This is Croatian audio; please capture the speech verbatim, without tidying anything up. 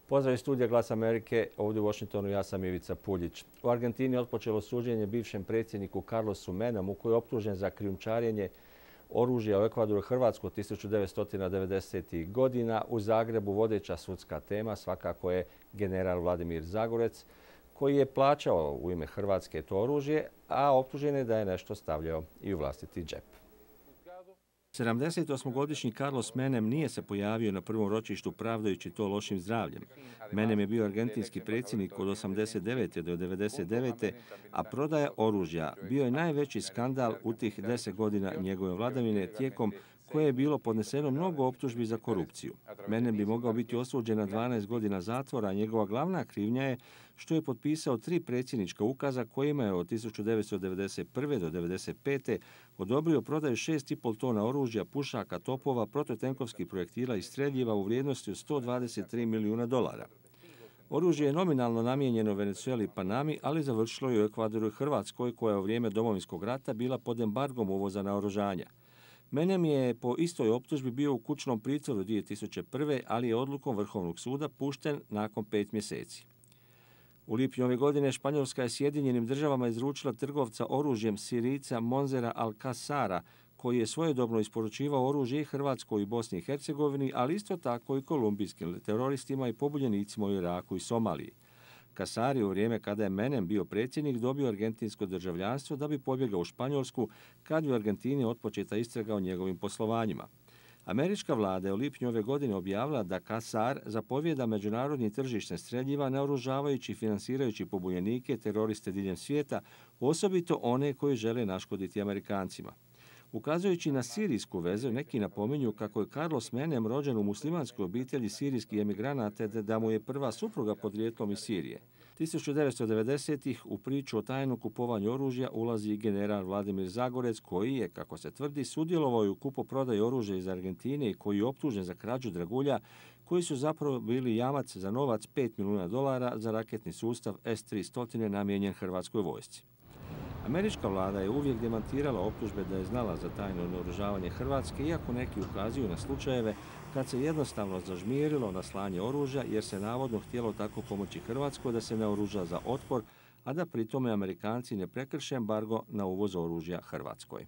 Pozdrav iz studija Glas Amerike, ovdje u Washingtonu ja sam Ivica Puljić. U Argentini je otpočelo suđenje bivšem predsjedniku Carlosu Menamu koji je optužen za krijumčarenje oružja u Ekvadoru i Hrvatsku tisuću devetsto devedesetih godina. U Zagrebu vodeća sudska tema svakako je general Vladimir Zagorec koji je plaćao u ime Hrvatske to oružje, a optužen je da je nešto stavljao i u vlastiti džep. sedamdesetosmogodišnji Carlos Menem nije se pojavio na prvom ročištu pravdajući to lošim zdravljem. Menem je bio argentinski predsjednik od osamdeset devete do devedeset devete, a prodaja oružja bio je najveći skandal u tih deset godina njegove vladavine, tijekom koje je bilo podneseno mnogo optužbi za korupciju. Menem bi mogao biti osuđen na dvanaest godina zatvora, a njegova glavna krivnja je što je potpisao tri predsjednička ukaza kojima je od tisuću devetsto devedeset prve do devedeset pete odobrio prodaju šest i pol tona oružja, pušaka, topova, protutenkovskih projektila i streljiva u vrijednosti od sto dvadeset tri milijuna dolara. Oružje je nominalno namijenjeno Venezueli i Panami, ali završilo je u Ekvadoru i Hrvatskoj, koja je u vrijeme Domovinskog rata bila pod embargom uvoza naoružanja. Menem je po istoj optužbi bio u kućnom pritvoru dvije tisuće prve, ali je odlukom Vrhovnog suda pušten nakon pet mjeseci. U lipnju ove godine Španjolska je Sjedinjenim državama izručila trgovca oružjem Sirijca Monzera Alcazara, koji je svojedobno isporučivao oružje i Hrvatskoj i Bosni i Hercegovini, ali isto tako i kolumbijskim teroristima i pobunjenicima u Iraku i Somaliji. Casar je u vrijeme kada je Menem bio predsjednik dobio argentinsko državljanstvo da bi pobjegao u Španjolsku kad bi u Argentini otpočeta istraga o njegovim poslovanjima. Američka vlada je u lipnju ove godine objavila da Casar zapovijeda međunarodni tržište streljiva naoružavajući i finansirajući pobunjenike teroriste diljem svijeta, osobito one koji žele naškoditi Amerikancima. Ukazujući na sirijsku vezu, neki napominju kako je Carlos Menem rođen u muslimanskoj obitelji sirijskih emigranata, te da mu je prva supruga podrijetlom iz Sirije. tisuću devetsto devedesetih u priču o tajnom kupovanju oružja ulazi i general Vladimir Zagorec, koji je, kako se tvrdi, sudjelovao u kupoprodaji oružja iz Argentine i koji je optužen za krađu dragulja, koji su zapravo bili jamac za novac pet milijuna dolara za raketni sustav S tristo namijenjen Hrvatskoj vojsci. Američka vlada je uvijek demantirala optužbe da je znala za tajno naoružavanje Hrvatske, iako neki ukazuju na slučajeve kad se jednostavno zažmirilo na slanje oružja jer se navodno htjelo tako pomoći Hrvatskoj da se naoruža za otpor, a da pritome Amerikanci ne prekrše embargo na uvoz oružja Hrvatskoj.